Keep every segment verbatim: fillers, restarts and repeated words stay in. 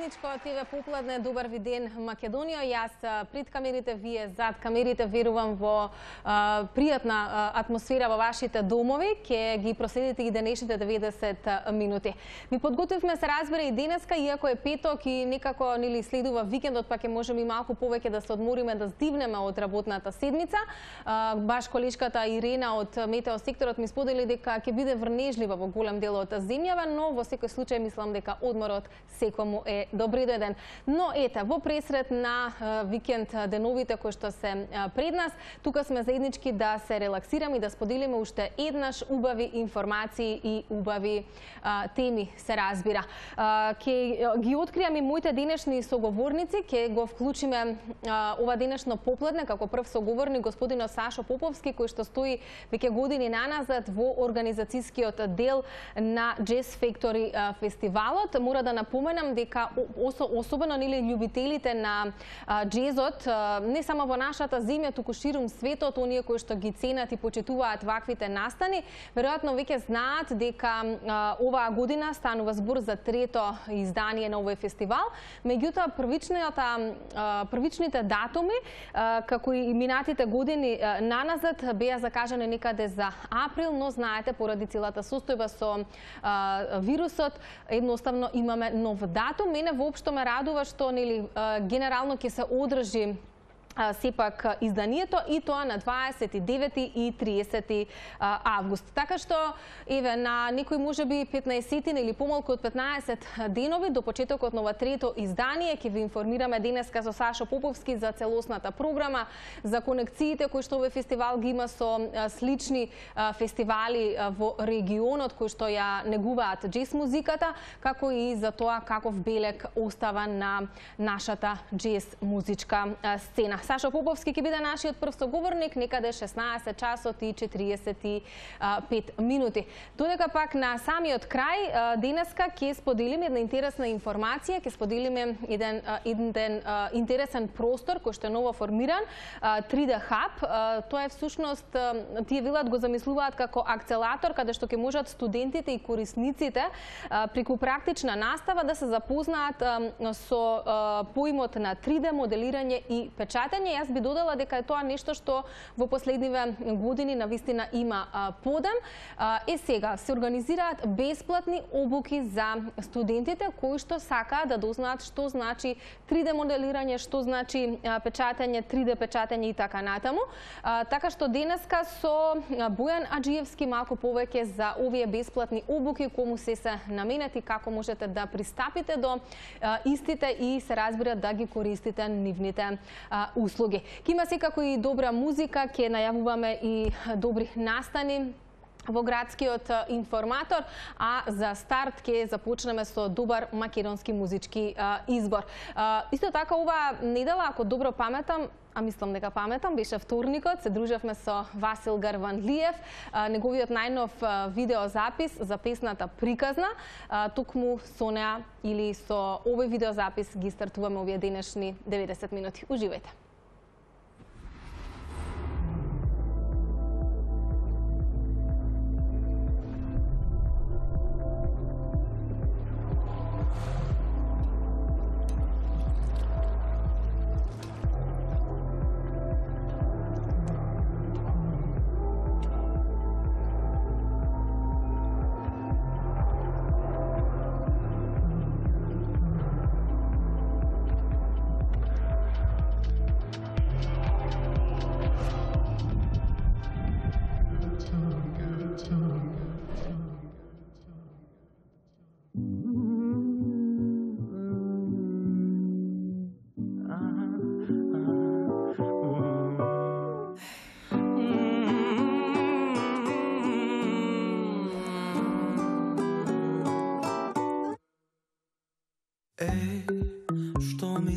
заедничко ТВ Попладне. Добар ви ден, Македонија. Јас пред камерите, вие зад камерите. Верувам во а, пријатна а, атмосфера во вашите домови. Ке ги проследите и денешните деветдесет минути. Ми подготвивме, се разбере, и денеска, иако е петок и некако нели следува викендот, па ќе можеме и малку повеќе да се одмориме, да здивнеме од работната седмица. А, баш колешката Ирена од Метео секторот ми сподели дека ќе биде врнежлива во голем дел од земјава, но во секој случај мислам дека одморот секому е добредојден. Но ете, во пресред на викенд деновите кои што се пред нас, тука сме заеднички да се релаксираме и да споделиме уште еднаш убави информации и убави а, теми, се разбира. А, ке ги откријам и моите денешни соговорници, ке го вклучиме а, ова денешно попладне како прв соговорник господинот Сашо Поповски, кој што стои веќе години наназад во организацијскиот дел на Jazz Factory фестивалот. Мора да напоменам дека особено нели љубителите на џезот, не само во нашата земја, туку ширум светот, оние кои што ги ценат и почитуваат ваквите настани, веројатно веќе знаат дека оваа година станува збор за трето издание на овој фестивал. Меѓутоа, првичната првичните датуми, како и минатите години наназад, беа закажани некаде за април, но знаете, поради целата состојба со вирусот, едноставно имаме нов датум. Мене воопшто ме радува што нели генерално ќе се одржи сепак изданието, и тоа на дваесет и девети и тридесети август. Така што, еве, на некои можеби петнаесет или помалку од петнаесет денови до почетокот на ова трето издание ќе ви информираме денеска со Сашо Поповски за целосната програма, за конекциите кои што овој фестивал ги има со слични фестивали во регионот кои што ја негуваат џез музиката, како и за тоа каков белег остава на нашата џез музичка сцена. Сашо Поповски ќе биде нашиот прв соговорник некаде шеснаесет часот и четириесет и пет минути. Додека пак на самиот крај денеска ќе споделиме една интересна информација, ќе споделиме еден еден интересен простор кој што е ново формиран, три де Hub. Тоа е всушност, тие велат го замислуваат како акцелатор каде што ќе можат студентите и корисниците преку практична настава да се запознаат со поимот на три де моделирање и печатање. Јас би додала дека е тоа нешто што во последниве години навистина има подем. Е сега се организираат бесплатни обуки за студентите кои што сакаат да дознаат што значи три де моделирање, што значи печатање, три де печатање и така натаму. Така што денеска со Бојан Аџиевски малку повеќе за овие бесплатни обуки, кому се се наменети, како можете да пристапите до истите и се разбира да ги користите нивните услуги. Ке има секако и добра музика, ке најавуваме и добри настани во градскиот информатор, а за старт ке започнеме со добар македонски музички избор. Исто така, ова недела, ако добро паметам, а мислам дека паметам, беше вторникот, се дружевме со Васил Гарванлиев, неговиот најнов видеозапис за песната Приказна. Токму со неа или со овој видеозапис ги стартуваме овие денешни деветдесет минути. Уживајте!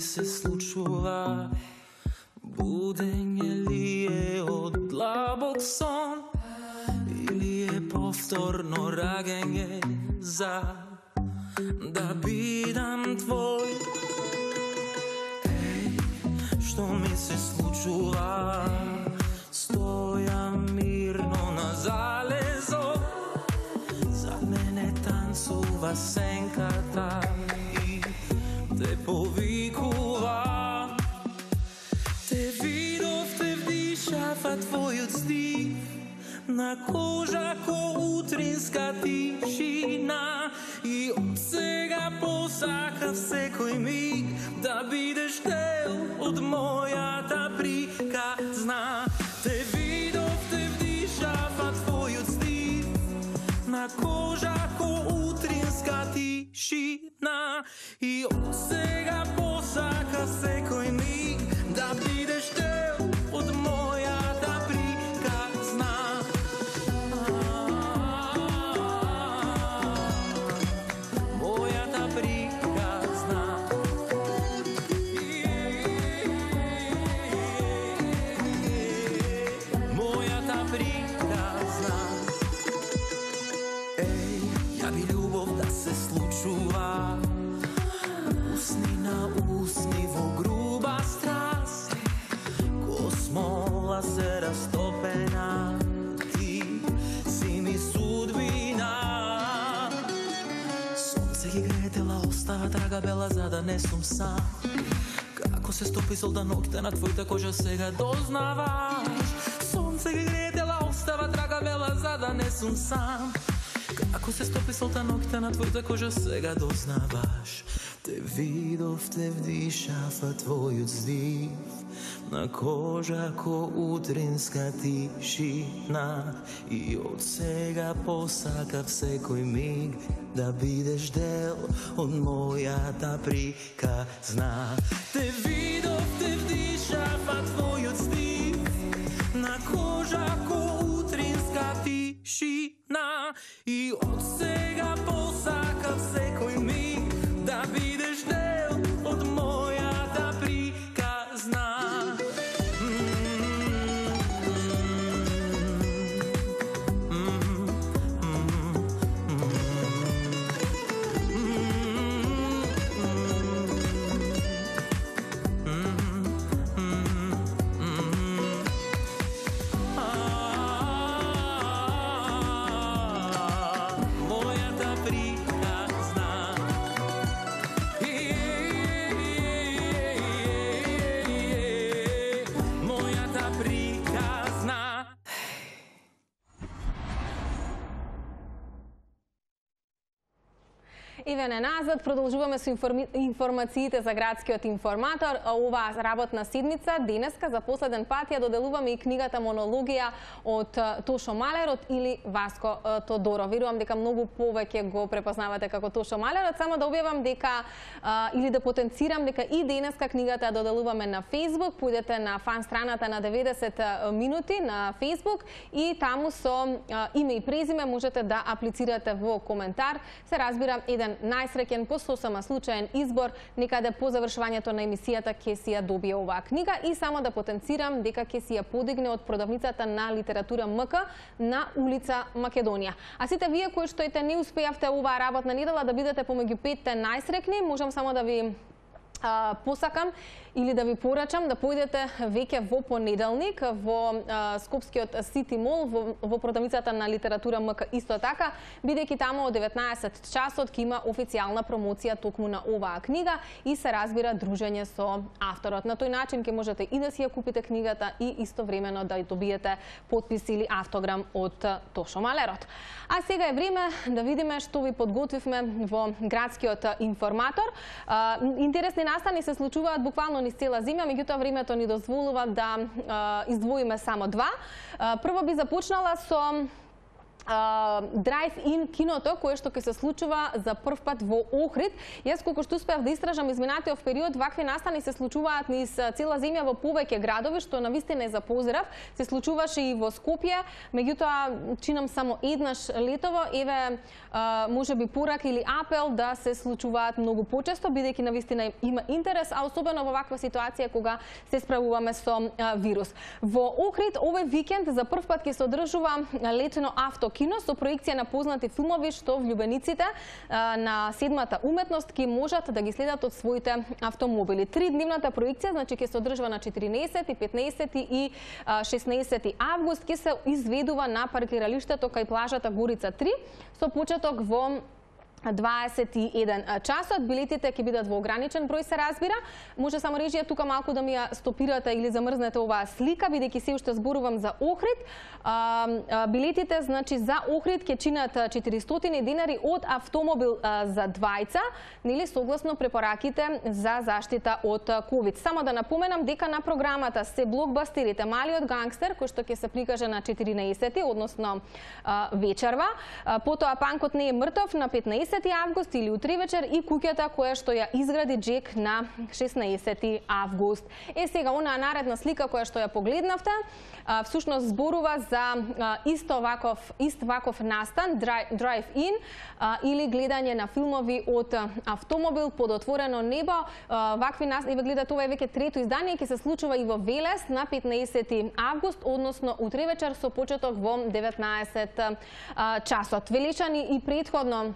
Се случува, будење ли е од длабок сон или е повторно раѓање за да бидам твој? Еј, што ми се случува? Стојам мирно на залезо, за мене танцува сенката и fa твојот стив на кожа ко утринска тишина и од сега посакав секој миг да бидеш дел од мојата приказна. Те видов, те вдишава твојот стив на кожа ко утринска тишина и од сега посакав секој миг да бидеш дел од мојата приказна. Мојата приказна. Мојата приказна. Еј, ја би љубов да се случува усни на усни во груба страст, ко смола се растопена, ти си ми судбина. Сонце ги грее тела, остава трага бела за да не сум сам. Како се стопи солда ноќта на твојата кожа сега дознаваш. Сонце ги грее тела, остава трага бела за да не сум сам. Како се стопи солта ноќта на твојата кожа сега дознаваш. Те видов, те вдишава твојот здив на кожа ко утринска тишина и од сега посакав секој миг да бидеш дел од мојата приказна. Те видов, те вдишава твојот здив на кожа ко утринска тишина и од сега посакав секој миг да бидеш дел од мојата приказна. Еве назад, продолжуваме со информи... информациите за градскиот информатор. Оваа работна седмица, денеска, за последен пат ја доделуваме и книгата Монологија од Тошо Малерот или Васко Тодоров. Верувам дека многу повеќе го препознавате како Тошо Малерот. Само да објавам дека, а, или да потенцирам дека и денеска книгата ја доделуваме на Facebook. Појдете на фан страната на деветдесет минути на Facebook и таму со а, име и презиме можете да аплицирате во коментар. Се разбира, еден најсреќен по сосема случаен избор, некаде по завршувањето на емисијата ќе си ја добие оваа книга и само да потенцирам дека ќе си ја подигне од продавницата на литература МК на улица Македонија. А сите вие кои што ете не успеавте оваа работна недела да бидете помеѓу петте најсреќни, можам само да ви а, посакам или да ви порачам да појдете веќе во понеделник во а, Скопскиот Сити Мол, во, во продавницата на литература МК исто така, бидејќи таму од деветнаесет часот ќе има официјална промоција токму на оваа книга и се разбира дружење со авторот. На тој начин ќе можете и да си ја купите книгата и истовремено да ја добиете потпис или автограм од Тошо Малерот. А сега е време да видиме што ви подготвивме во градскиот информатор. А, интересни настани се случуваат буквално низ цела земја, меѓутоа времето ни дозволува да а, издвоиме само два. А, прво би започнала со Драйв-ин киното, кое што ќе се случува за прв пат во Охрид. Јас колку што успеав да истражам изминатиот период, вакви настани се случуваат низ цела земја во повеќе градови, што навистина е за поздрав. Се случуваше и во Скопје, меѓутоа чинам само еднаш летово. Еве можеби порак или апел да се случуваат многу почесто, бидејќи навистина има интерес, а особено во ваква ситуација кога се справуваме со вирус. Во Охрид овој викенд за прв пат ќе се одржува летено авто кино со проекција на познати филмови што влюбениците а, на седмата уметност ќе можат да ги следат од своите автомобили. Тридневната проекција значи ќе се одржува на четиринесети, петнаесети и шеснаесети август, ќе се изведува на паркиралиштето кај плажата Горица три со почеток во дваесет и еден часот. Билетите ќе бидат во ограничен број, се разбира. Може само режија тука малку да ми ја стопирате или замрзнете оваа слика, бидејќи се уште зборувам за Охрид. А, а, билетите, значи, за Охрид ќе чинат четиристотини динари од автомобил а, за двајца, нели, согласно препораките за заштита од ковид. Само да напоменам дека на програмата се блокбастерите Малиот гангстер, кој што ќе се прикаже на четиринаесети, односно а, вечерва. А, потоа Панкот не е мртов на петнаесети август или утре вечер и Куќата која што ја изгради Джек на шеснаесети август. Е, сега, онаа наредна слика која што ја погледнавте, а, всушност зборува за а, исто ваков, ист ваков настан, драйв-ин, или гледање на филмови од автомобил под отворено небо. А, вакви настани, еве гледате, ова е веќе трето издание, ќе се случува и во Велес на петнаесети август, односно утре вечер со почеток во деветнаесет часот. Велешани и претходно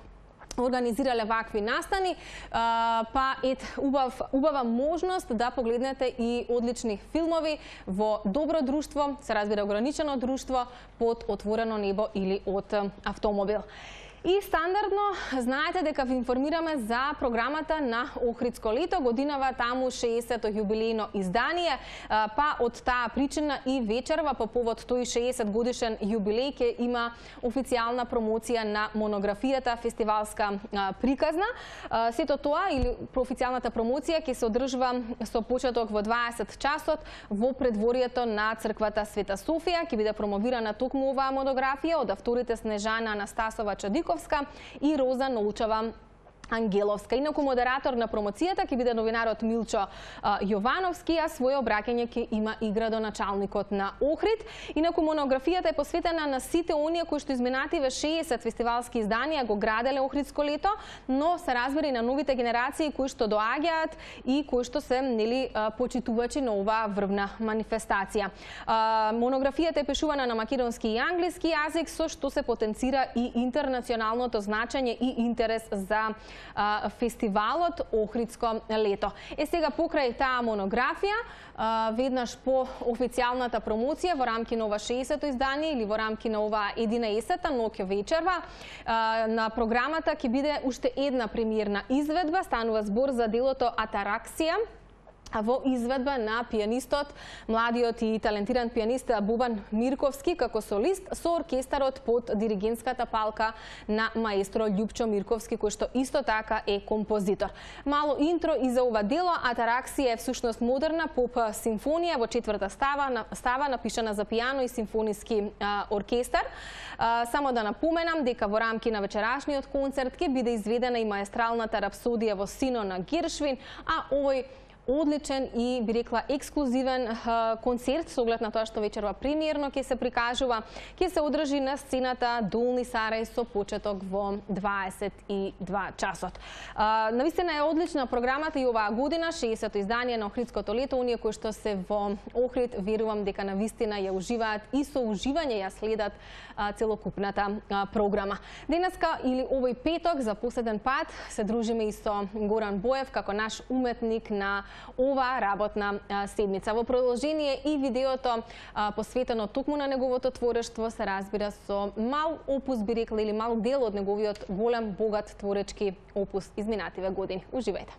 организирале вакви настани, па ет убав, убава можност да погледнете и одлични филмови во добро друштво, се разбира ограничено друштво, под отворено небо или од автомобил. И стандардно знаете дека ви информираме за програмата на Охридско лето, годинава таму шеесетто јубилејно издание, па од таа причина и вечерва по повод тој шеесет годишен јубилеј ќе има официјална промоција на монографијата фестивалска приказна. Сето тоа или официјалната промоција ќе се одржува со почеток во дваесет часот во предворието на црквата Света Софија. Ќе биде промовирана токму оваа монографија од авторите Снежана Анастасова Чадиковска и Роза Нолчева Ангеловска. Инаку модератор на промоцијата ќе биде новинарот Милчо а, Јовановски, а своје обраќање ќе има и градоначалникот на Охрид. Инаку монографијата е посветена на сите оние кои што изминативе шеесет фестивалски изданија го граделе Охридско лето, но се разбира и на новите генерации кои што доаѓаат и кои што се, нели, почитувачи на оваа врвна манифестација. А, монографијата е пишувана на македонски и англиски јазик, со што се потенцира и интернационалното значење и интерес за фестивалот Охридско лето. Е, сега покрај таа монографија, веднаш по официјалната промоција во рамки на ова шеесетто издание или во рамки на ова единаесетта ноќ вечерва, на програмата ќе биде уште една премиерна изведба, станува збор за делото Атараксија, во изведба на пианистот, младиот и талентиран пианист Бубан Мирковски како солист со оркестарот под диригентската палка на маестро Љупчо Мирковски, кој што исто така е композитор. Мало интро и за ова дело. Атараксија е всушност модерна поп симфонија во четврта става, става напишана за пијано и симфониски а, оркестар. А, само да напоменам дека во рамки на вечерашниот концерт ќе биде изведена и маестралната рапсодија во Сино на Гершвин, а овој одличен и, би рекла, ексклузивен концерт, со оглед на тоа што вечерва премиерно ќе се прикажува, ќе се одржи на сцената Долни Сарај со почеток во дваесет и два часот. Навистина е одлична програмата и оваа година, шеесетто издание на Охридското лето. Оние кои што се во Охрид, верувам дека навистина ја уживаат и со уживање ја следат целокупната програма. Денеска или овој петок за последен пат се дружиме и со Горан Боев како наш уметник на оваа работна седмица. Во продолжение и видеото посветено токму на неговото творештво, се разбира со мал опус, би рекла, или мал дел од неговиот голем, богат творечки опус изминативе години. Уживајте!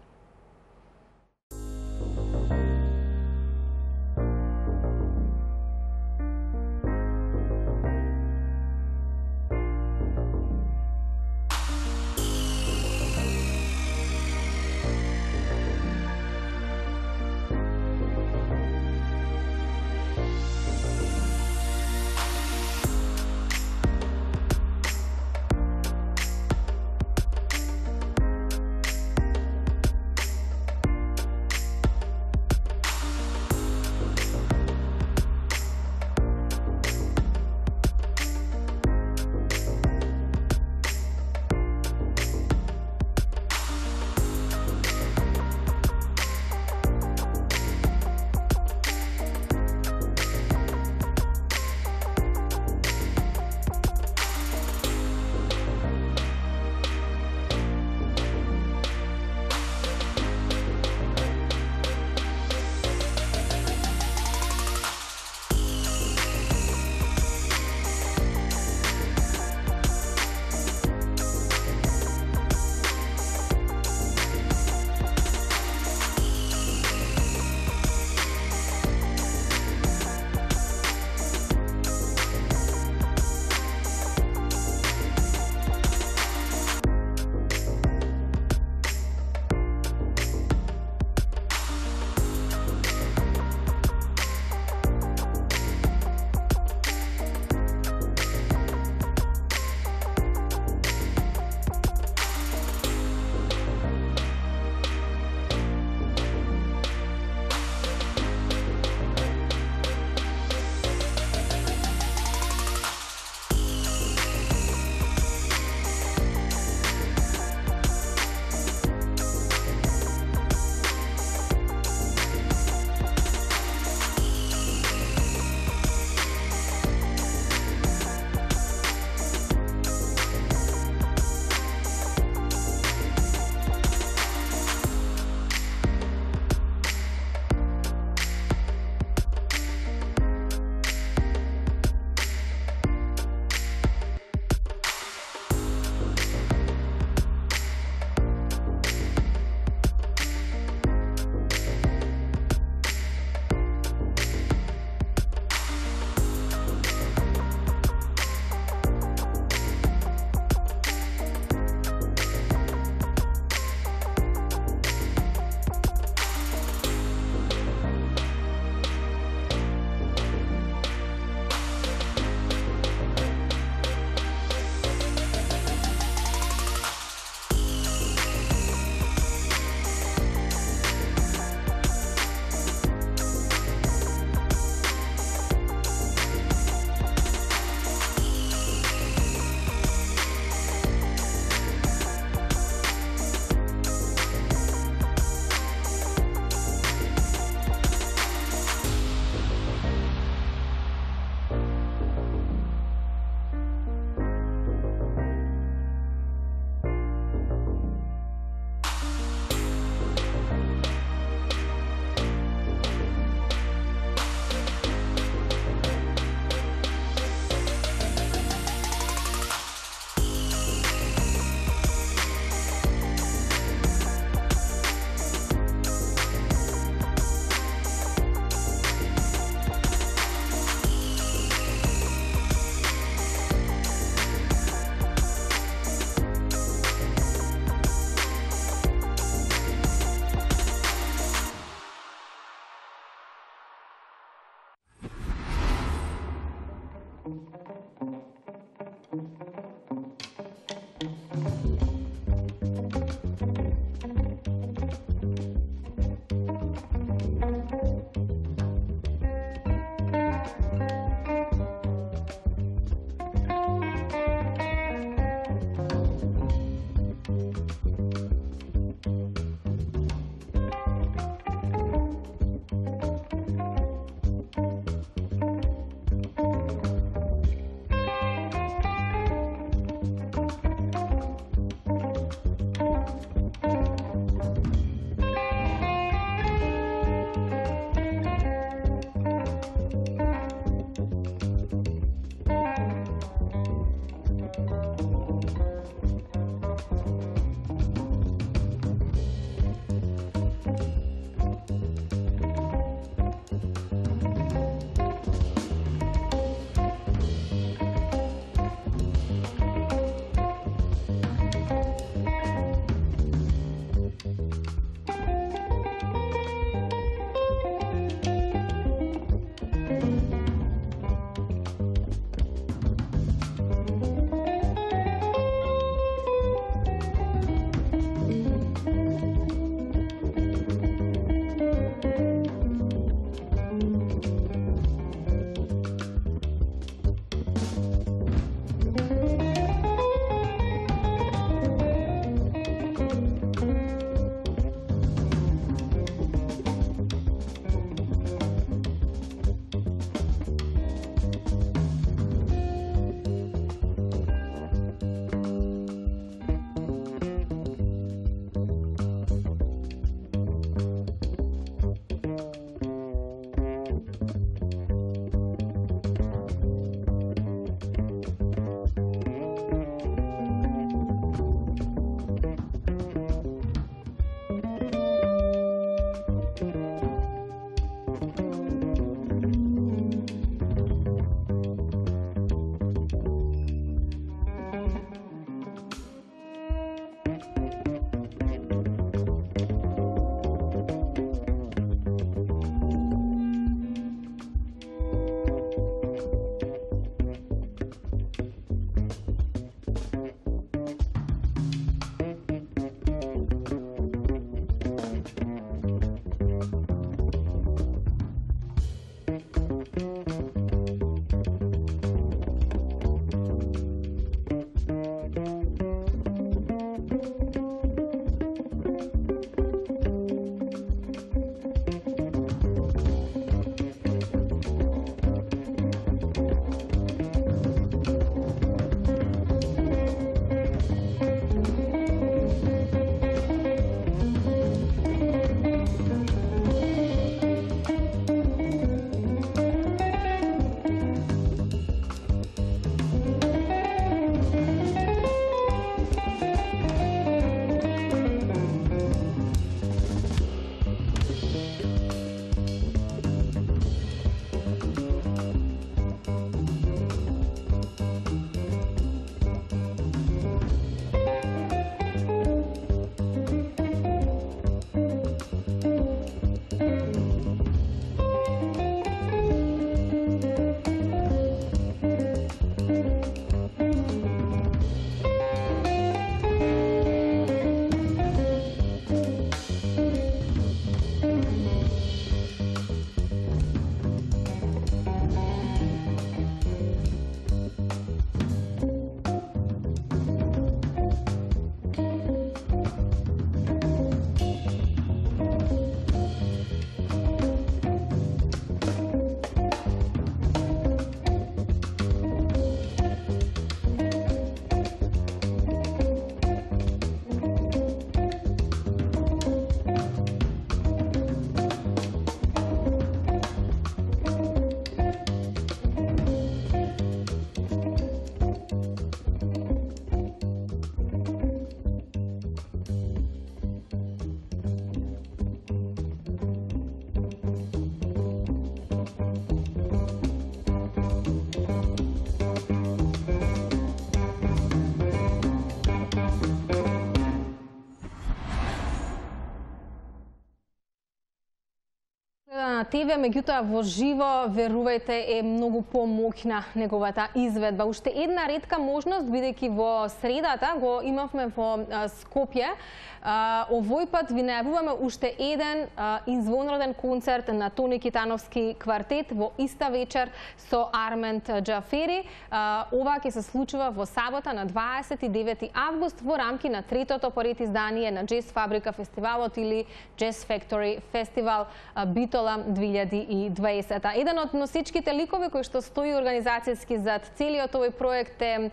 Те ве, меѓутоа во живо, верувајте, е многу помоќна неговата изведба. Уште една ретка можност, бидејќи во средата го имавме во Скопје, овој пат ви најавуваме уште еден извонреден концерт на Тони Китановски квартет во иста вечер со Армент Џафери. Ова ќе се случува во сабота на дваесет и девети август во рамки на третото поред издание на Джез Фабрика фестивалот или Jazz Factory Фестивал Битола две илјади и дваесета. Еден од носичките ликови кој што стои организацијски зад целиот овој проект е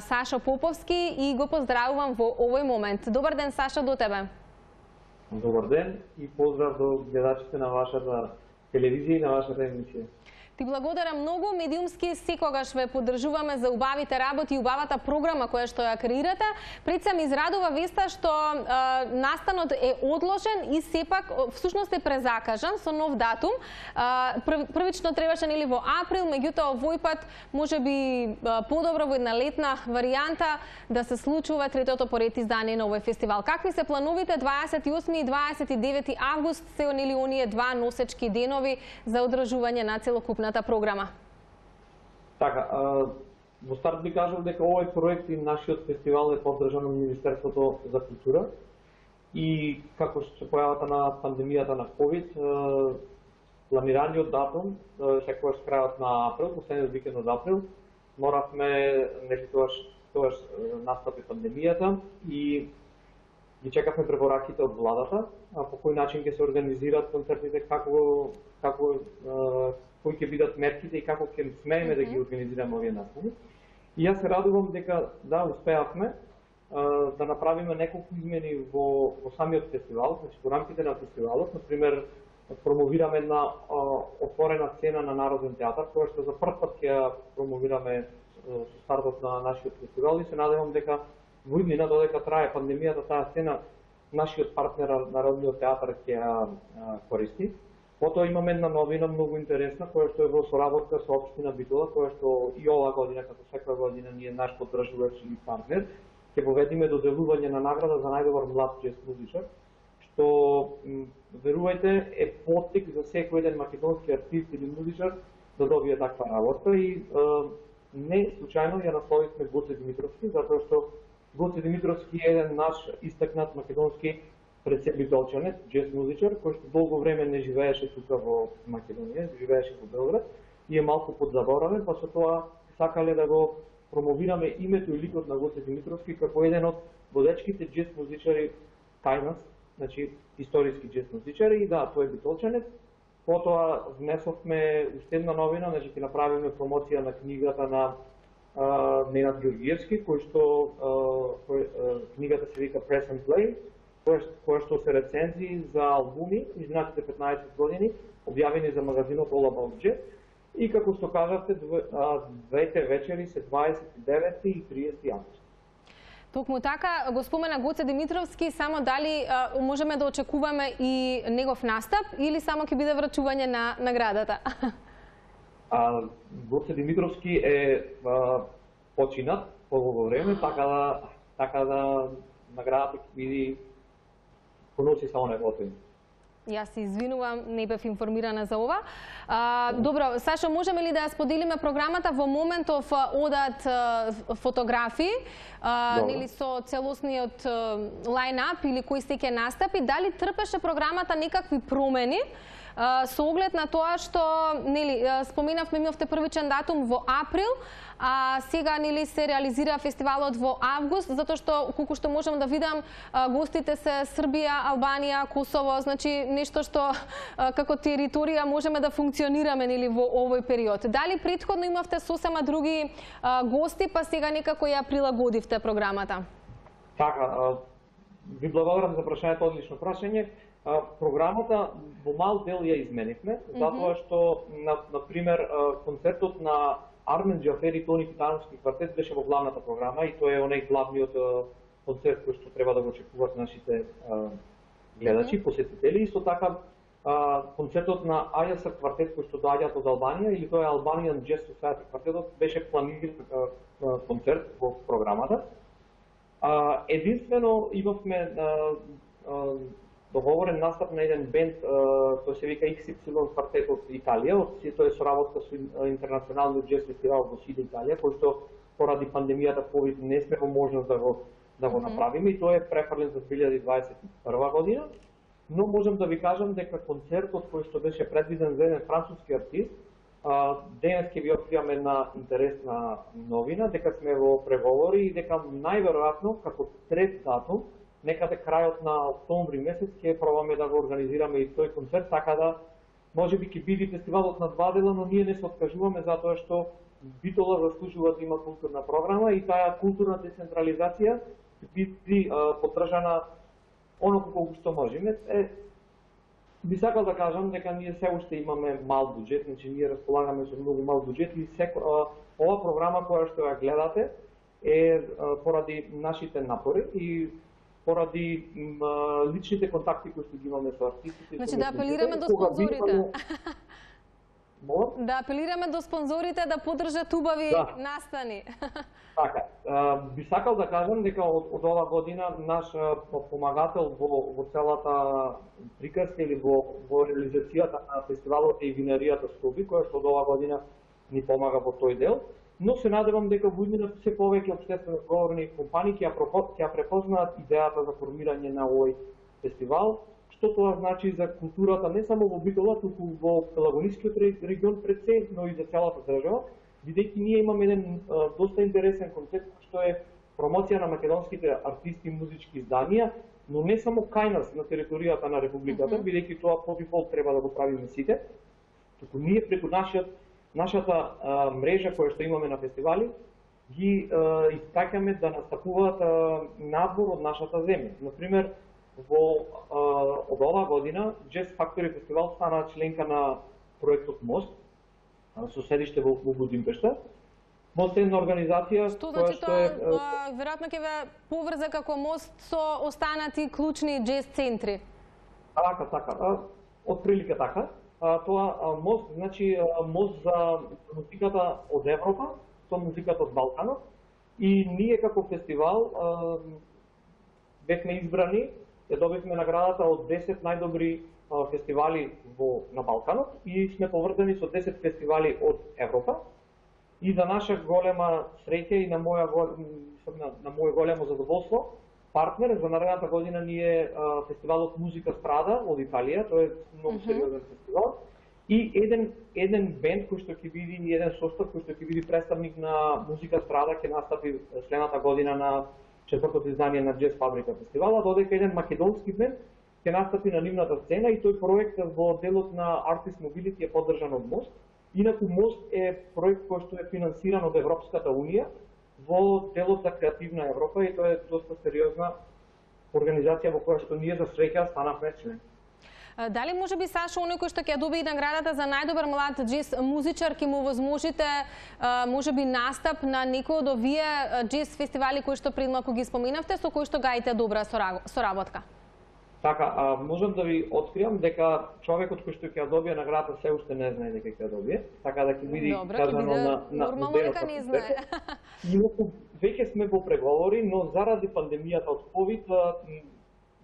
Сашо Поповски и го поздравувам во овој момент. Добар ден, Сашо, до тебе. Добар ден и поздрав до гледачите на вашата телевизија и на вашата емисија. Ти благодарам многу, медиумски секогаш ве поддржуваме за убавите работи и убавата програма која што ја креирате. Пред се ми израдува веста што е, настанот е одложен и сепак всушност е презакажан со нов датум. Е, првично требаше нели во април, меѓутоа овој пат можеби подобро во една летна варијанта да се случува третото поред издание на овој фестивал. Какви се плановите дваесет и осми и дваесет и девети август се нели оние два носечки денови за одржување на целокупна програма? Така, а, во старт би кажал дека овој проект и нашиот фестивал е поддржан од Министерството за култура и како се појавата на пандемијата на ковид, а, планираниот датум, секогаш крајот на април, последниот викенд од април, моравме, нели тогаш, тогаш настапи пандемијата и ги чекавме препораките од владата, а по кој начин ќе се организираат концертите, како како кои ќе бидат мерките и како ќе смееме да ги организираме овие настави. И јас се радувам дека да успеавме да направиме неколку измени во, во самиот фестивал, значи во рамките на фестивалот, например промовираме една отворена сцена на Народен театар, која што за прв пат ќе ја промовираме со стартот на нашиот фестивал и се надевам дека во иднина додека трае пандемијата таа сцена нашиот партнер Народниот театар ќе ја користи. Потоа имаме една новина многу интересна, која што е во соработка со општина Битола, која што и оваа година, како секоја година, ние наш поддржувач и партнер, ќе поведиме доделување на награда за најдобар млад џез музичар, што, верувајте, е поттик за секој еден македонски артист или музичар да добие таква работа и е, не случајно ја насловивме Гоце Димитровски, затоа што Гоце Димитровски е еден наш истакнат македонски пред се битолчанец, џез музичар, кој што долго време не живееше тука во Македонија, живееше во Белград и е малку подзаборавен, па со тоа сакале да го промовираме името и ликот на Гоце Димитровски како еден од водечките џез музичари кај нас, значи историски џез музичари и да, тој е битолчанец. Потоа внесовме уште една новина, значи ќе направиме промоција на книгата на а, Ненад Георгиевски, кој што а, кој, а, книгата се вика Press and Play, која што се рецензии за албуми изминатите петнаесет години, објавени за магазинот All About Jazz. И како што кажавте, двете вечери се дваесет и девети и триесети август. Токму така, го спомена Гоце Димитровски, само дали а, можеме да очекуваме и негов настап или само ќе биде врачување на наградата? А, Гоце Димитровски е а, починат по во време, така да, така да наградата ќе биде поноси само неговото име. Јас се извинувам, не бев информирана за ова. А, добро, Сашо, можеме ли да ја споделиме програмата во моментов одат фотографии, а, нели со целосниот лајнап или кои се ќе настапи, дали трпеше програмата некакви промени? Uh, со оглед на тоа што нели споменавме имавте првичен датум во април, а сега нели се реализира фестивалот во август, затоа што колку што можам да видам гостите се Србија, Албанија, Косово, значи нешто што како територија можеме да функционираме нели во овој период. Дали претходно имавте сосема други гости, па сега некако ја прилагодивте програмата? Така, ви благодарам за прашањето, одлично прашање. Програмата во мал дел ја изменивме, затоа што, на, на пример, концертот на Армен Џафери и Тони Китановски квартет беше во главната програма и тој е онај главниот концерт кој што треба да го очекуваат нашите гледачи, посетители. Исто така, концертот на Ајаса квартет кој што доаѓаат од Албанија или тој е Albanian Jazz Society квартетот беше планиран концерт во програмата. Единствено имавме договорен настап на еден бенд, тој се вика икс икс ил квартет од Италија, тоа е соработка со интернационалниот джез фестивал во Сид Италија, кој што поради пандемијата ковид не сме во можност да го да го направиме и тоа е префрлен за две илјади дваесет и прва година. Но можам да ви кажам дека концертот кој што беше предвиден за еден француски артист, денес ќе ви откриваме една интересна новина, дека сме во преговори и дека најверојатно како трет датум, некаде крајот на октомври месец ќе пробаме да го организираме и тој концерт, така да можеби ќе биде фестивалот на два дела, но ние не се откажуваме затоа што Битола заслужува да има културна програма и таа културна децентрализација биде поддржана оноко колку што можеме. Е, би сакал да кажам дека ние се уште имаме мал буџет, значи ние располагаме со многу мал буџет и секо, а, ова програма која што ја гледате е а, поради нашите напори и поради а, личните контакти кои што ги имаме со артистите. Значи да апелираме до спонзорите. Мол? Да апелираме до спонзорите да поддржат убави да. настани. Така, а, би сакал да кажам дека од, од ова година наш помагател во, во целата приказка или во, во реализацијата на фестивалот е и винаријата Стоби, која што од ова година ни помага во тој дел, но се надевам дека во иднината се повеќе општествено одговорни компании ќе ја препознаат идејата за формирање на овој фестивал, што тоа значи за културата не само во Битола, туку во Пелагонискиот регион пред се, но и за целата држава, бидејќи ние имаме еден а, доста интересен концепт што е промоција на македонските артисти и музички изданија, но не само кај нас на територијата на републиката, mm -hmm. бидејќи тоа по дефолт треба да го правиме сите, туку ние преку нашиот нашата а, мрежа која што имаме на фестивали ги а, испраќаме да настапуваат а, надвор од нашата земја. Например, во а, од оваа година Jazz Factory фестивал стана членка на проектот Мост со седиште во, во Будимпешта. Мост е една организација што која значи што тоа, е а, веројатно ќе ве поврза како мост со останати клучни джез центри. Така, така. А, од прилика така. А, тоа а, мост значи а, мост за музиката од Европа со музиката од Балканот и ние како фестивал а, бевме избрани, ја добивме наградата од десет најдобри а, фестивали во на Балканот и сме поврзани со десет фестивали од Европа. И за наша голема среќа и на моја на, на моје големо задоволство, партнер за наредната година ни е а, фестивалот Музика Страда од Италија, тоа е многу сериозен фестивал. И еден еден бенд кој што ќе биде и еден состав кој што ќе биде представник на Музика Страда ќе настапи следната година на четвртото издание на Джез Фабрика фестивала, додека еден македонски бенд ќе настапи на нивната сцена и тој проект во делот на Artist Mobility е поддржан од Мост. Инаку Мост е проект кој што е финансиран од Европската унија во делот за креативна Европа и тоа е доста сериозна организација во која што ние за среќа станавме член. Дали може би Сашо, оној кој што ќе добие наградата за најдобар млад джез музичар, ќе му возможите може би настап на некој од овие джез фестивали кои што пред малку ги споменавте, со кои што гаите добра соработка? Така, а, можам да ви откриам дека човекот кој што ќе ја добие наградата се уште не знае дека ќе ја добие, така да ќе биде казано на на нормално дека не знае. Инаку веќе сме во преговори, но заради пандемијата од ковид,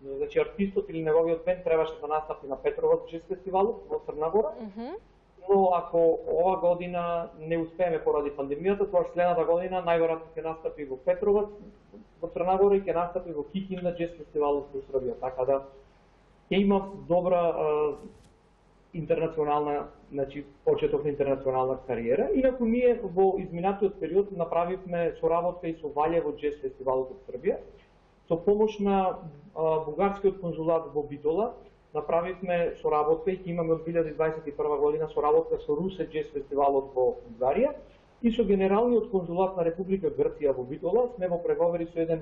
значи артистот или неговиот бенд требаше да настапи на Петровац джез фестивалот во Црна Гора. Mm -hmm. Но ако ова година не успееме поради пандемијата, тоа следната година најверојатно ќе настапи во Петровац во Црна Гора и ќе настапи во Кикинда джез фестивалот во Србија, така да ќе има добра а, интернационална, значи почеток на интернационална кариера. Инаку ние во изминатиот период направивме соработка и со Валјево джез фестивалот од Србија. Со помош на а, бугарскиот конзулат во Битола направивме соработка и ќе имаме од две илјади дваесет и прва година соработка со Русе джез фестивалот во Бугарија и со генералниот конзулат на Република Грција во Битола сме во преговори со еден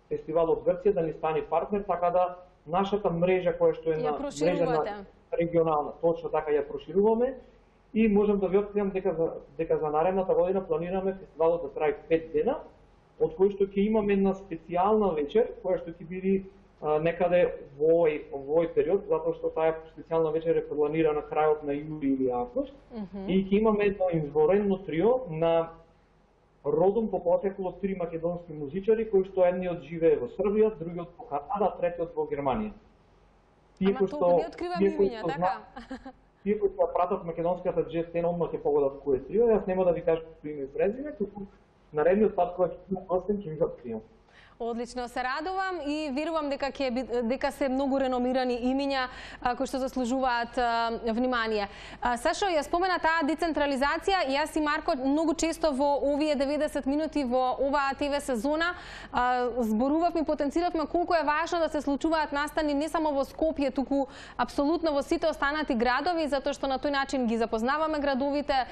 фестивал од Грција да ни стане партнер, така да нашата мрежа која што е на мрежа на регионална, точно така ја прошируваме и можам да ви откриам дека за дека за наредната година планираме фестивалот да трае пет дена, од кои што ќе имаме една специјална вечер која што ќе биде а, некаде во овој овој период, затоа што таа специјална вечер е планирана крајот на јули или август. Mm -hmm. И ќе имаме едно изворено трио на родом по потекло три македонски музичари кои што едниот живее во Србија, другиот во Канада, третиот во Германија. Ама толку не откриваме имиња, така? Тие кои ќе пратат македонската джез сцена, одма ќе погодат кој е трио, јас нема да ви кажам име и презиме, туку наредниот пат кога ќе имам гостин ќе ви го откриам. Одлично, се радувам и верувам дека ќе дека се многу реномирани имиња кои што заслужуваат внимание. Сашо, ја спомена таа децентрализација, јас и Марко многу често во овие деветдесет минути во оваа ТВ сезона зборувавме и потенциравме колку е важно да се случуваат настани не само во Скопје, туку апсолутно во сите останати градови, затоа што на тој начин ги запознаваме градовите,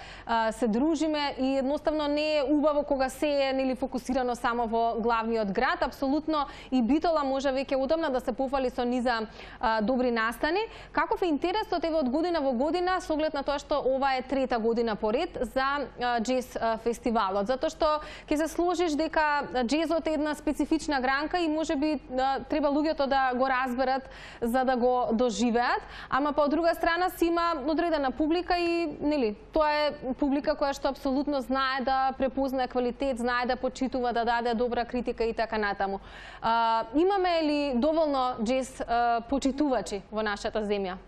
се дружиме и едноставно не е убаво кога се е нели фокусирано само во главниот град. Апсолутно и Битола може веќе одамна да се пофали со низа а, добри настани. Каков е интересот еве од година во година со оглед на тоа што ова е трета година поред за а, джез а, фестивалот? Затоа што ќе се сложиш дека джезот е една специфична гранка и можеби а, треба луѓето да го разберат за да го доживеат, ама по друга страна си има одредена публика и нели тоа е публика која што апсолутно знае да препознае квалитет, знае да почитува, да даде добра критика и така натаму. А, имаме ли доволно джез а, почитувачи во нашата земја?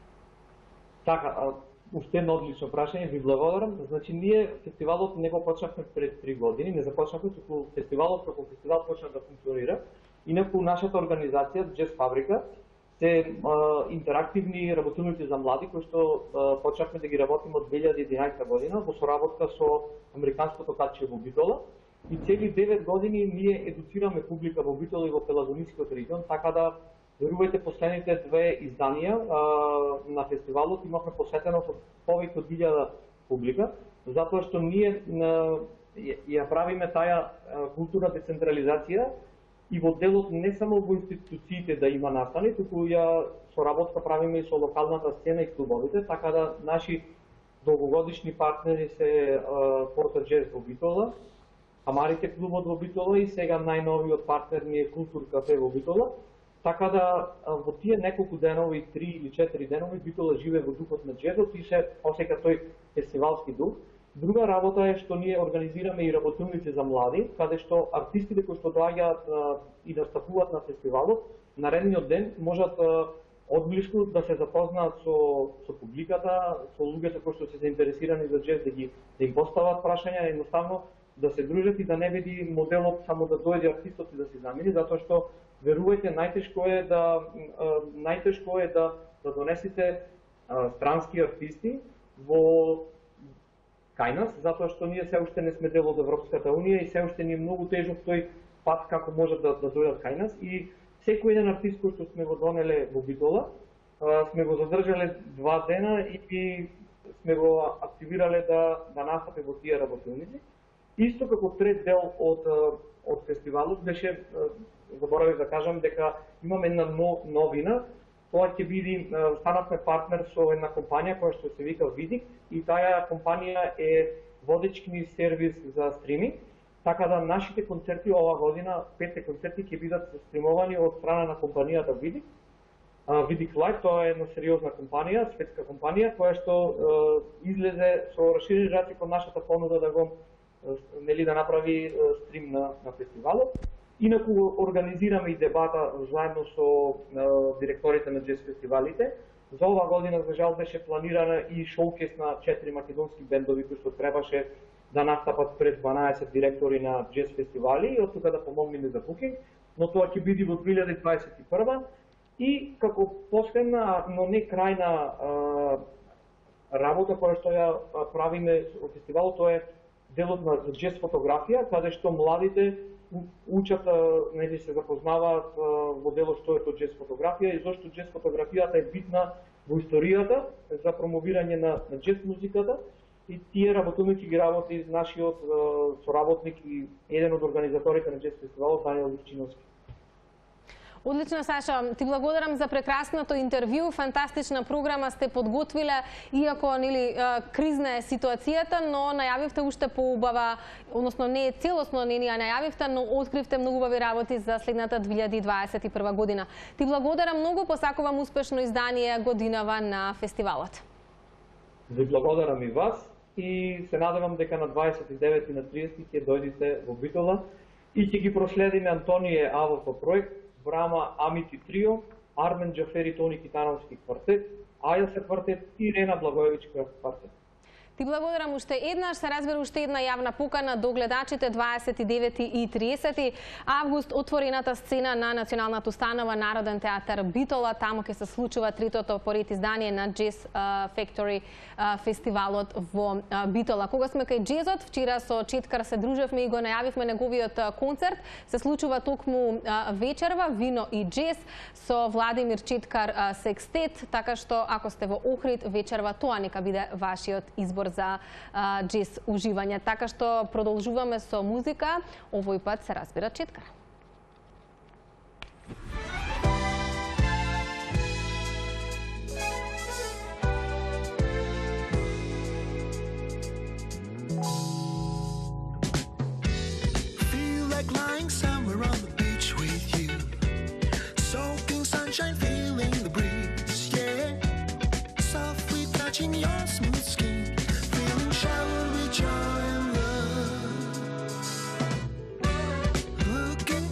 Така, уште едно одлично прашање, ви благодарам. Значи, ние фестивалот не го почнавме пред три години, не започнавме, туку фестивалот како фестивал почна да функционира. Инаку нашата организација, Джез Фабрика, се а, интерактивни работилници за млади, кои што а, почнавме да ги работиме од две илјади и единаесета година во соработка со Американското катче во Битола. И цели девет години ние едуцираме публика во Битола и во Пелагонискиот регион, така да верувајте последните две изданија а, на фестивалот имавме посетеност од повеќе од илјада публика, затоа што ние на, ја правиме таа културна децентрализација и во делот не само во институциите да има настани, туку ја соработка правиме и со локалната сцена и клубовите, така да наши долгогодишни партнери се Порта Джез во Битола, Амарите клубот во Битола и сега најновиот партнер ни е Култур кафе во Битола. Така да во тие неколку денови, три или четири денови, Битола живее во духот на джезот и се осеќа тој фестивалски дух. Друга работа е што ние организираме и работилници за млади, каде што артистите кои што доаѓаат и настапуваат на фестивалот, наредниот ден можат одблиску да се запознаат со со публиката, со луѓето кои што се заинтересирани за джез, да ги да им постават прашања, едноставно да се дружат и да не биде моделот само да дојде артистот и да се замени, затоа што верувајте, најтешко е да најтешко е да да донесете странски артисти во кај нас, затоа што ние се уште не сме дел од Европската унија и се уште ни е многу тежок тој пат како може да да дојдат кај нас и секој еден артист кој што сме го донеле во Битола, сме го задржале два дена и, и сме го активирале да да настапи во тие работилници. Исто како трет дел од од фестивалот беше, заборавив да кажам дека имаме една новина, тоа ќе биде, станавме партнер со една компанија која што се вика Видик и таа компанија е водечки сервис за стриминг, така да нашите концерти оваа година, петте концерти ќе бидат стримовани од страна на компанијата Видик. Видик Лайв, тоа е една сериозна компанија, светска компанија која што излезе со расширен рацик од нашата понуда да го нели да направи стрим на на фестивалот. Инаку организираме и дебата заедно со директорите на джез фестивалите. За оваа година за жал беше планирана и шоукес на четири македонски бендови кои што требаше да настапат пред дванаесет директори на джез фестивали и од тука да помогнеме за букинг, но тоа ќе биде во две илјади дваесет и прва. И како последна, но не крајна работа која што ја правиме во фестивалот, тоа е делот на джез фотографија, каде што младите учат, нели се запознаваат во делот што е тоа джез фотографија и зошто джез фотографијата е битна во историјата за промовирање на, на джез музиката. И тие работилници ги работи нашиот соработник и еден од организаторите на джез фестивалот, Даниел Личиновски. Одлично, Саша, ти благодарам за прекрасното интервју, фантастична програма сте подготвиле, иако нели кризна е ситуацијата, но најавивте уште поубава, односно не е целосно не ни ја најавивте, но откривте многу убави работи за следната две илјади дваесет и прва година. Ти благодарам многу, посакувам успешно издание годинава на фестивалот. Ви благодарам и вас и се надевам дека на дваесет и девети и на триесети ќе дојдете во Битола и ќе ги проследиме Антонije АВФ проект, Брама Амити Трио Армен Джафери Тони Китановски квартет, Аја се квартет и Рена Благоевичка квартет. Ти благодарам уште еднаш, се разбира уште една јавна покана до гледачите дваесет и девети и тридесети август отворената сцена на Националната установа Народен театар Битола, таму ќе се случува третото поред издание на Jazz Factory фестивалот во Битола. Кога сме кај джезот, вчера со Четкар се дружевме и го најавивме неговиот концерт, се случува токму вечерва Вино и джез со Владимир Четкар секстет, така што ако сте во Охрид вечерва, тоа нека биде вашиот избор за джез уживање. Така што продолжуваме со музика, овој пат се разбира Четкар. Feel like lying somewhere on the beach with you, soaking sunshine, feeling the breeze, yeah, softly touching your smooth skin, showered with joy and love, looking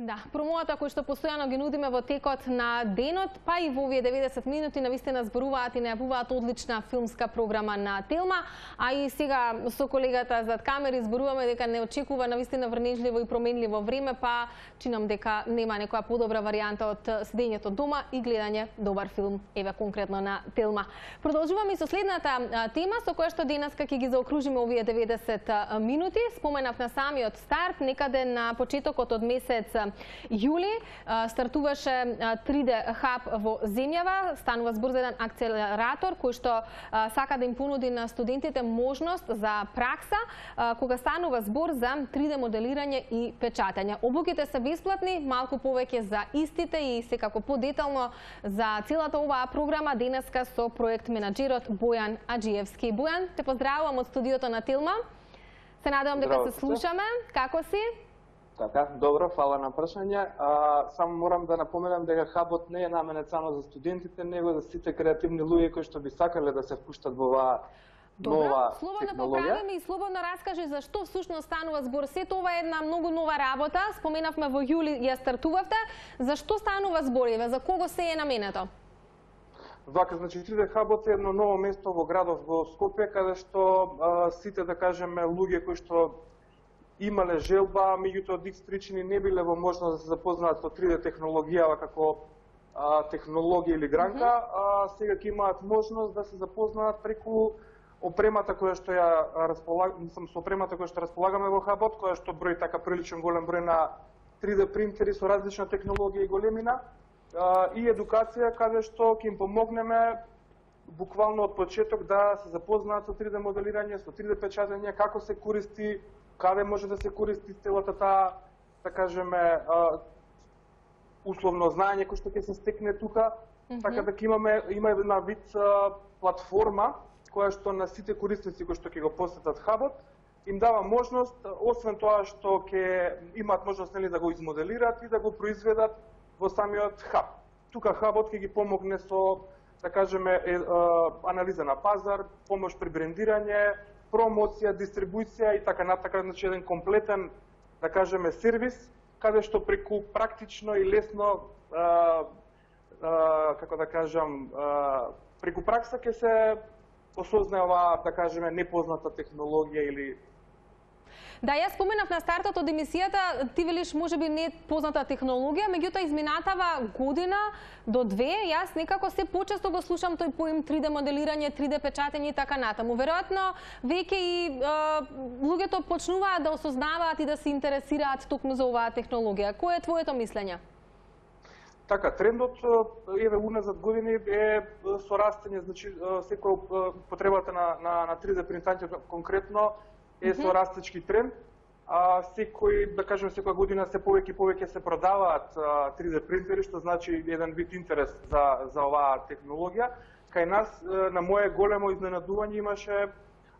Да, промовата која што постојано ги нудиме во текот на денот, па и во овие деветдесет минути навистина зборуваат и најавуваат одлична филмска програма на Телма, а и сега со колегата зад камери зборуваме дека не очекува навистина врнежливо и променливо време, па чинам дека нема некоја подобра варијанта од седењето дома и гледање добар филм, еве конкретно на Телма. Продолжуваме и со следната тема со која што денеска ќе ги заокружиме овие деветдесет минути. Споменав на самиот старт, некаде на почетокот од месец јули стартуваше три Д хаб во земјава, станува збор за еден акцелератор кој што сака да им понуди на студентите можност за пракса кога станува збор за три Д моделирање и печатење. Обуките се бесплатни, малку повеќе за истите и секако подетално за целата оваа програма денеска со проект менаџерот Бојан Аџиевски. Бојан, те поздравувам од студиото на Телма. Се надевам дека се слушаме. Како си? Така, добро, фала на прашање. А, само морам да напоменам дека хабот не е наменет само за студентите, него за сите креативни луѓе кои што би сакале да се впуштат во оваа нова технологија. Слободно поправи и слободно раскажи зашто всушност станува збор. Сето ова е една многу нова работа. Споменавме во јули ја стартувавте. Зашто станува збор? Еве, за кого се е наменето? Вака, значи три Д хабот е едно ново место во градот во Скопје, каде што а, сите, да кажеме, луѓе кои што имале желба, меѓутоа од икс причини не биле во можност да се запознаат со три Д технологијава како а, технологија или гранка, mm -hmm. а сега ќе имаат можност да се запознаат преку опремата која што ја располагаме, сум со опремата која што располагаме во хабот, која што брои така приличен голем број на три Д принтери со различна технологија и големина, а, и едукација каде што ќе им помогнеме буквално од почеток да се запознаат со три Д моделирање, со три Д печатење, како се користи, каде може да се користи целата таа, да кажеме, условно знаење кој што ќе се стекне тука, mm -hmm. така да ќе имаме има една вид а, платформа која што на сите корисници кои што ќе го посетат хабот им дава можност, освен тоа што ќе имаат можност нели да го измоделираат и да го произведат во самиот хаб. Тука хабот ќе ги помогне со, да кажеме, е, е, анализа на пазар, помош при брендирање, промоција, дистрибуција и така натака, значи еден комплетен, да кажеме, сервис, каде што преку практично и лесно, а, а, како да кажам, а, преку пракса ќе се осознае оваа, да кажеме, непозната технологија или... Да, јас споменав на стартот од емисијата, ти велиш можеби не позната технологија, меѓутоа изминатава година до две, јас некако се почесто го слушам тој поим три Д моделирање, три Д печатење и така натаму. Веројатно веќе и е, луѓето почнуваат да осознаваат и да се интересираат токму за оваа технологија. Кој е твоето мислење? Така, трендот еве уназад години е со растење, значи секоја потребата на на на три Д принтањето конкретно е со растечки тренд. А секој, да кажеме, секоја година се повеќе и повеќе се продаваат три Д принтери, што значи еден вид интерес за за оваа технологија. Кај нас на мое големо изненадување имаше,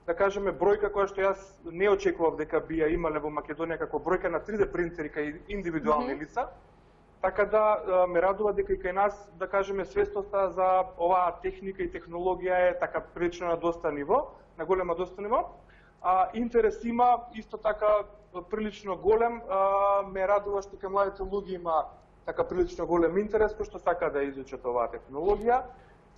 да кажеме, бројка која што јас не очекував дека би ја имале во Македонија како бројка на три Д принтери кај индивидуални mm -hmm. лица. Така да ме радува дека и кај нас, да кажеме, свестоста за оваа техника и технологија е така прилично на доста ниво, на голема доста ниво. А, интерес има исто така прилично голем, а, ме радува што кај младите луѓе има така прилично голем интерес кој што сака да изучат оваа технологија.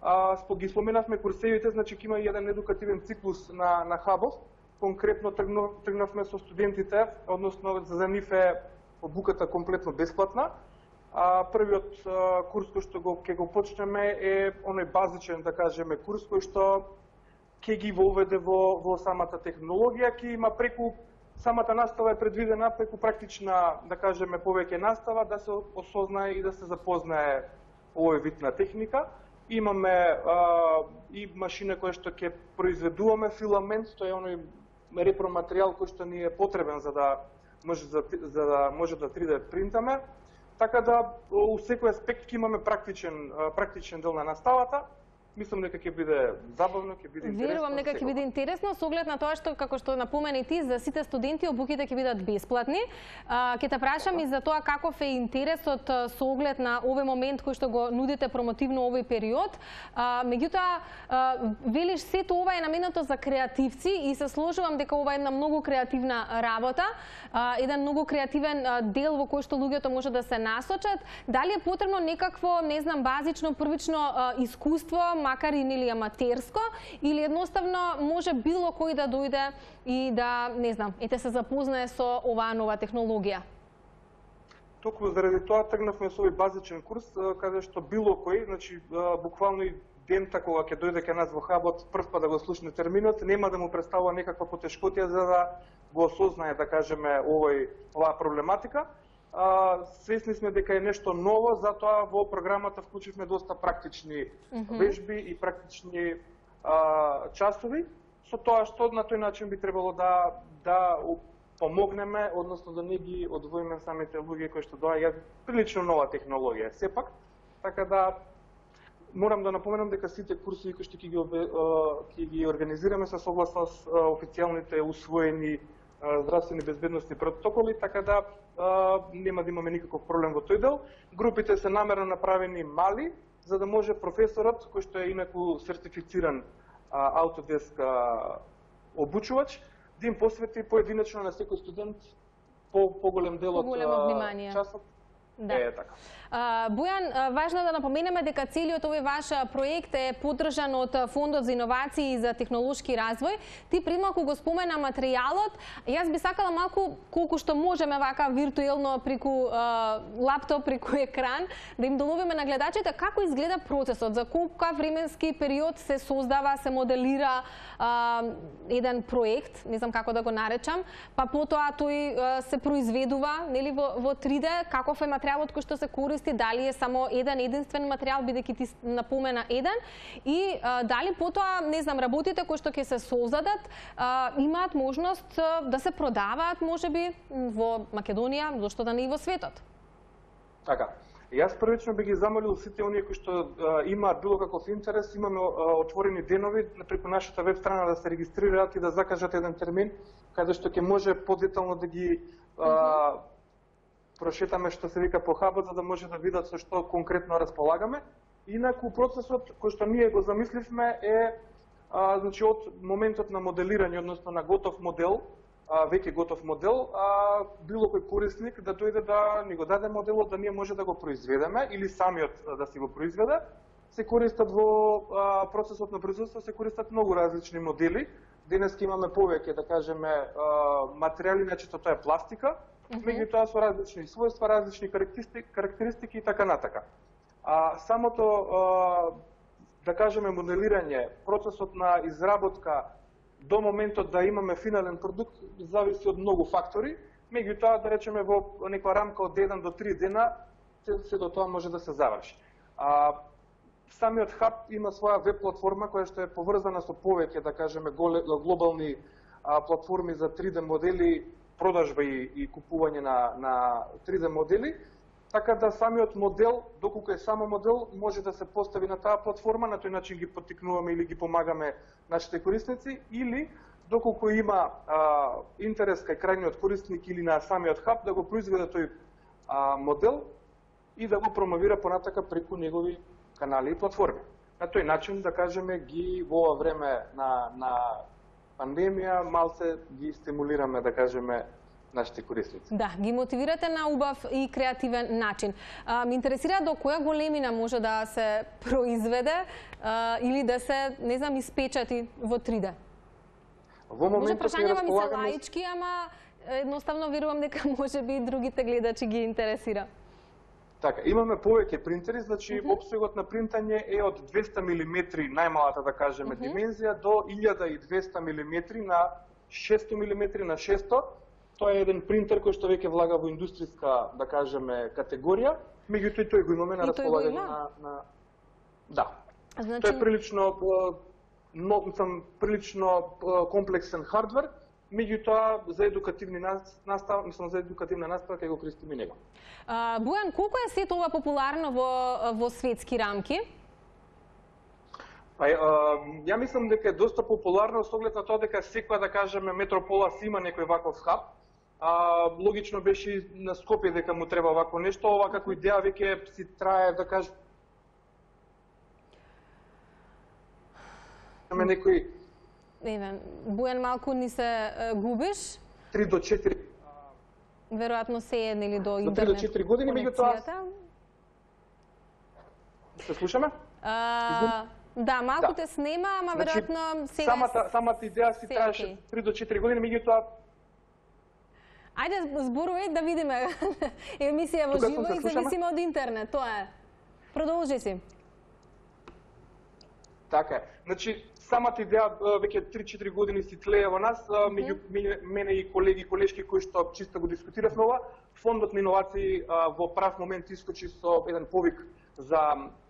А, спо ги споменавме курсевите, значи ќе има и еден едукативен циклус на на хабот. Конкретно тргнав, тргнавме со студентите, односно за нив е обуката комплетно бесплатна. А, првиот а, курс кој што го ќе го почнеме е оној базичен, да кажеме, курс кој што ќе ги воведе во во самата технологија, ќе има преку самата настава е предвидена преку практична, да кажеме, повеќе настава да се осознае и да се запознае овој вид на техника. Имаме а, и машина која што ќе произведуваме филамент, тоа е оној репроматеријал кој што ни е потребен за да може за, за да може да три Д принтаме. Така да у секој аспект ќе имаме практичен практичен дел на наставата. Мислам дека ќе биде забавно, ќе биде интересно. Верувам дека ќе биде интересно со оглед на тоа што како што напомени ти за сите студенти обуките ќе бидат бесплатни. Ќе те прашам и за тоа каков е интересот со оглед на овој момент кој што го нудите промотивно овој период. Меѓутоа велиш сето ова е наменето за креативци и се сложувам дека ова е една многу креативна работа, еден многу креативен дел во кој што луѓето може да се насочат. Дали е потребно некакво, не знам, базично првично искуство, макар и нели аматерско, или едноставно може било кој да дојде и да, не знам, ете се запознае со оваа нова технологија? Токму заради тоа тргнавме со овој базичен курс, каде што било кој, значи буквално и дента кога ќе дојде кај нас во хабот, прв пат да го слушне терминот, нема да му представува некаква потешкотија за да го осознае, да кажеме, овој оваа проблематика. А, свесни сме дека е нешто ново, затоа во програмата вклучивме доста практични mm-hmm. вежби и практични а, часови, со тоа што на тој начин би требало да да помогнеме, односно да не ги одвоиме самите луѓе кои што доаѓаат, прилично нова технологија сепак, така да морам да напоменам дека сите курсови кои што ќе ги ќе ги организираме се согласно официјалните усвоени здравствени безбедносни протоколи, така да а, нема да имаме никаков проблем во тој дел. Групите се намерно направени мали, за да може професорот, кој што е инаку сертифициран а, Autodesk а, обучувач, да им посвети поединечно на секој студент по поголем дел од часот. Да. Е, така. А, Бојан, важно е да напоменеме дека целиот овој ваш проект е поддржан од Фондот за иновации и за технолошки развој. Ти пред малку го спомена материјалот. Јас би сакала малку, колку што можеме вака виртуелно преку а, лаптоп, преку екран, да им доловиме на гледачите како изгледа процесот, за колку временски период се создава, се моделира а, еден проект, не знам како да го наречам, па потоа тој а, се произведува, нели, во, во три де, каков е материјалот кој што се користи, дали е само еден единствен материјал, бидејќи ти напомена еден, и а, дали потоа, не знам, работите кои што ќе се создадат, а, имаат можност а, да се продаваат, можеби, во Македонија, зошто да не и во светот? Така. Јас првично би ги замолил сите оние кои што а, имаат било каков интерес, имаме а, отворени денови преку нашата веб страна да се регистрираат и да закажат еден термин, каде што ќе може подетално да ги а, mm-hmm. прошетаме, што се вика, по хабот, за да може да видат со што конкретно располагаме. Инаку процесот кој што ние го замисливме е а, значи од моментот на моделирање, односно на готов модел, а, веќе готов модел, а, било кој корисник да дојде да ни го даде моделот, да ние може да го произведеме или самиот да си го произведе. Се користат во а, процесот на производство, се користат многу различни модели. Денес имаме повеќе, да кажеме, а, материјали, значи тоа е пластика, меѓутоа со различни својства, различни карактеристики, карактеристики и така натака. А самото, а, да кажеме, моделирање, процесот на изработка до моментот да имаме финален продукт зависи од многу фактори, меѓутоа, да речеме, во некоја рамка од еден до три дена се до тоа може да се заврши. А, самиот хаб има своја веб платформа која што е поврзана со повеќе, да кажеме, глобални а, платформи за три де модели, продажба и, и купување на, на три де модели, така да самиот модел, доколку е само модел, може да се постави на таа платформа, на тој начин ги поттикнуваме или ги помагаме нашите корисници, или доколку има а, интерес кај крајниот корисник или на самиот хаб, да го произведе тој а, модел и да го промовира понатака преку негови канали и платформи. На тој начин, да кажеме, ги во ова време на, на пандемија, малце ги стимулираме, да кажеме, нашите корисници. Да, ги мотивирате на убав и креативен начин. А, ми интересира до која големина може да се произведе а, или да се, не знам, испечати во три де? Во моментот може прашањава ми се располагаме... лаички, ама едноставно верувам дека може би другите гледачи ги интересира. Така, имаме повеќе принтери, значи mm-hmm. опсегот на принтање е од двеста милиметри, најмалата, да кажеме, mm-hmm. димензија, до илјада и двеста милиметри на шесто милиметри на шесто. Тоа е еден принтер кој што веќе влага во индустријска, да кажеме, категорија, меѓутоа тој го имаме на располагање на, на... Да. Значи... Тој е прилично, но, сам, прилично комплексен хардвер, меѓутоа за едукативни настава, мислам за едукативна настава ќе го користиме него. А, Бојан, колку е сето ова популарно во, во светски рамки? Па, ја мислам дека е доста популарно со оглед на тоа дека секоја, да кажеме, метропола си има некој ваков хаб. А, логично беше и на Скопје дека му треба вако нешто, ова како идеја веќе си трае, да кажеме, некој... Еве, Бојан, малку ни се е, губиш. три до четири... Веројатно се е или до интернет. До три до четири години, меѓутоа... Се слушаме? А, да, малку Да. те снема, ама Значи, веројатно сега... Самата, самата идеја си се траеше окей. три до четири години, меѓутоа Ајде, зборувај да видиме емисија во Тука живо сум, се и слушаме? зависимо од интернет, тоа е. Продолжи си. така е. Значи, самата идеја а, веќе три-четири години си тлее во нас, а, меѓу мене- мене и колеги и колешки кои што чисто го дискутиравме ова. Фондот на иновации а, во прав момент искочи со еден повик за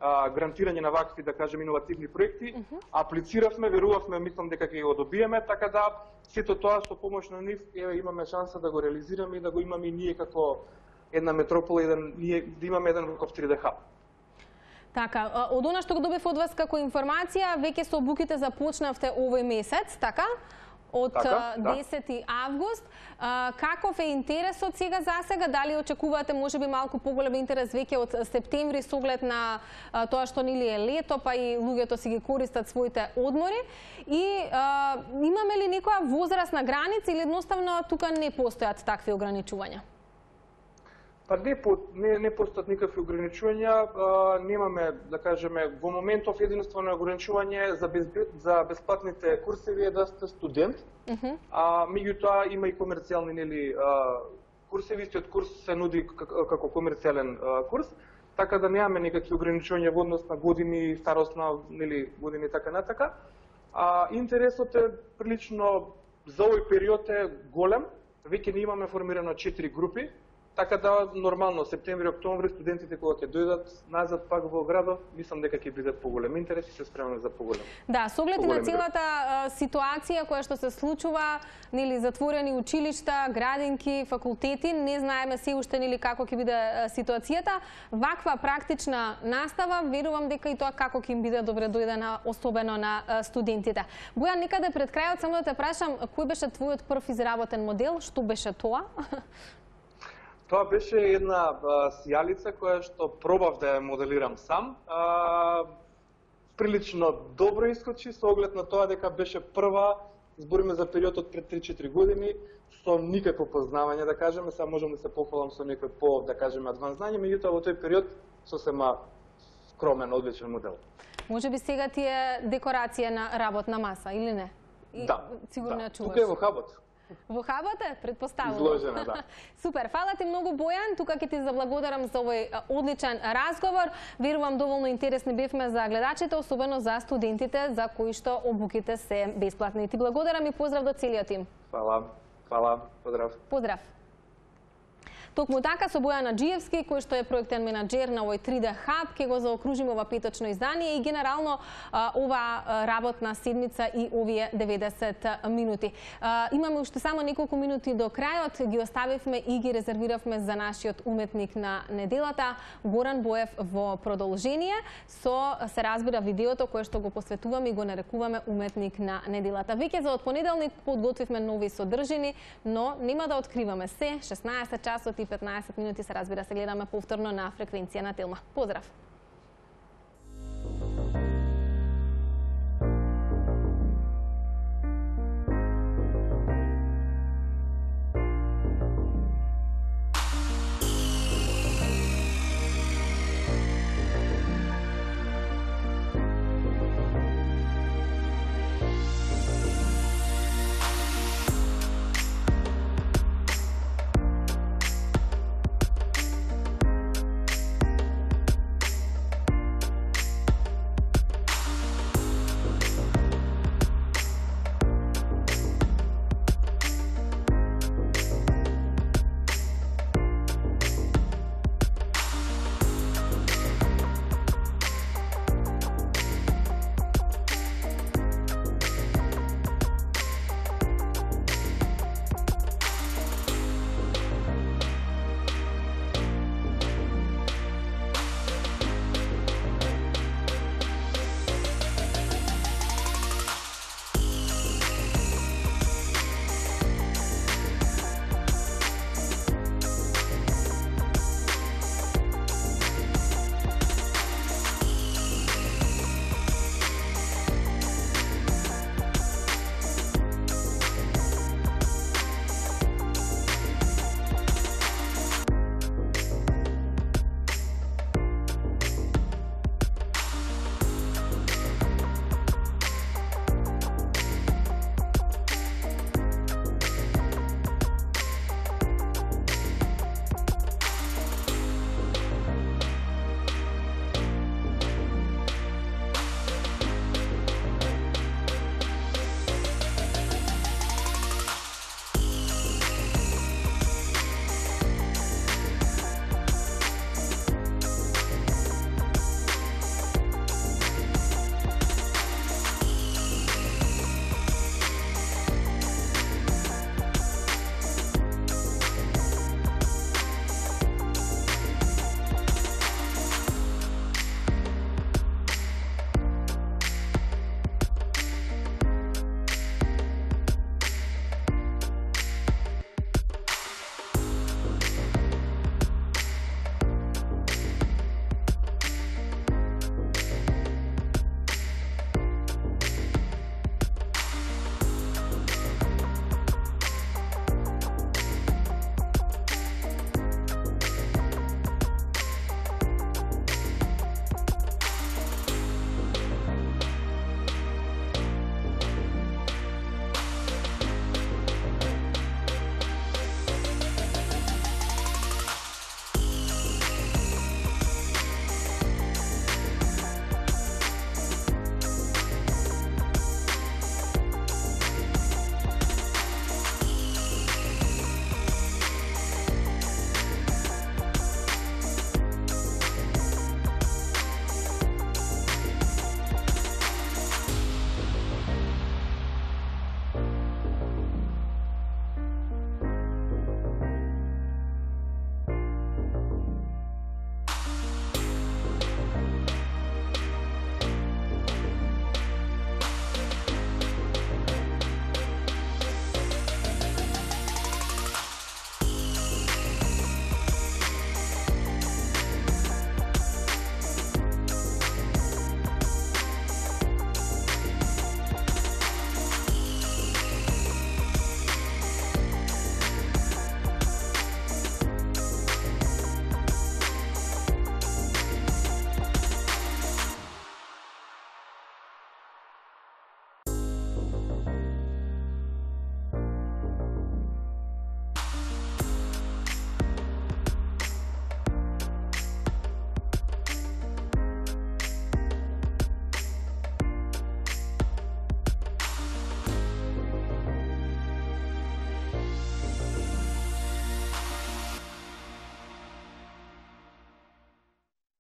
а, грантирање на вакви, да кажем, иновативни проекти. Аплициравме, верувавме, мислам дека ќе го добиеме, така да сето тоа со помош на нив еве имаме шанса да го реализираме и да го имаме и ние како една метропола, еден ние да имаме еден ваков три де хаб. Така, а, од она што го добив од вас како информација, веќе со обуките започнавте овој месец, така? Од Така, а, да. десети август. А, каков е интересот сега за сега? Дали очекувате можеби малку поголем интерес веќе од септември со оглед на а, тоа што нели е лето, па и луѓето си ги користат своите одмори? И а, имаме ли некоја возрастна граница или едноставно тука не постојат такви ограничувања? Па не, по, не, не постојат никакви ограничувања, а, немаме, да кажеме, во моментов единствено ограничување за, без, за бесплатните курсеви е да сте студент, Uh -huh. а меѓутоа има и комерцијални нели а, курсеви, истиот курс се нуди како, како комерцијален а, курс, така да немаме никакви ограничувања во однос на години, старосна, нели години така натака. А интересот е прилично за овој период е голем, веќе не имаме формирано четири групи. Така да, нормално, септември, октомври, студентите кога ќе дојдат назад пак во градот, мислам дека ќе биде поголем интерес и се спремаме за поголем. Да, со оглед на Поголем целата а, ситуација која што се случува, нели затворени училишта, градинки, факултети, не знаеме се уште нели како ќе биде а, ситуацијата. Ваква практична настава, верувам дека и тоа како ќе им биде добре дојдена, особено на а, студентите. Бојан, некаде пред крајот само да те прашам, кој беше твојот прв изработен модел? Што беше тоа? Тоа беше една а, сијалица која што пробав да ја моделирам сам. А, прилично добро искочи со оглед на тоа дека беше прва, збориме за периодот пред три-четири години, со никакво познавање, да кажеме, сега можам да се пофалам со некој по, да кажеме, адванс знање, меѓутоа во тој период сосема скромен, одличен модел. Може би сега ти е декорација на работна маса, или не? И, Да, сигурно да. ја чуваш. Тука е во хабот. Во хабот е, предпоставувам. Изложена, да. Супер, фала ти многу, Бојан. Тука ќе ти заблагодарам за овој а, одличен разговор. Верувам доволно интересни бевме за гледачите, особено за студентите за кои што обуките се бесплатни. Ти благодарам и поздрав до целиот тим. Фала, фала, поздрав. Поздрав. Токму така со Бојан Аџиевски, кој што е проектен менаџер на овој три де хаб, ќе го заокружиме ова петочно издание и генерално а, ова а, работна седмица и овие деветдесет минути. А, имаме уште само неколку минути до крајот, ги оставивме и ги резервиравме за нашиот уметник на неделата, Горан Боев во продолжение, со се разбира видеото кое што го посветуваме и го нарекуваме уметник на неделата. Веќе за од понеделник подготвивме нови содржини, но нема да откриваме се. шеснаесет часот и петнаесет минути се разбира се гледаме повторно на фреквенција на Телма. Поздрав!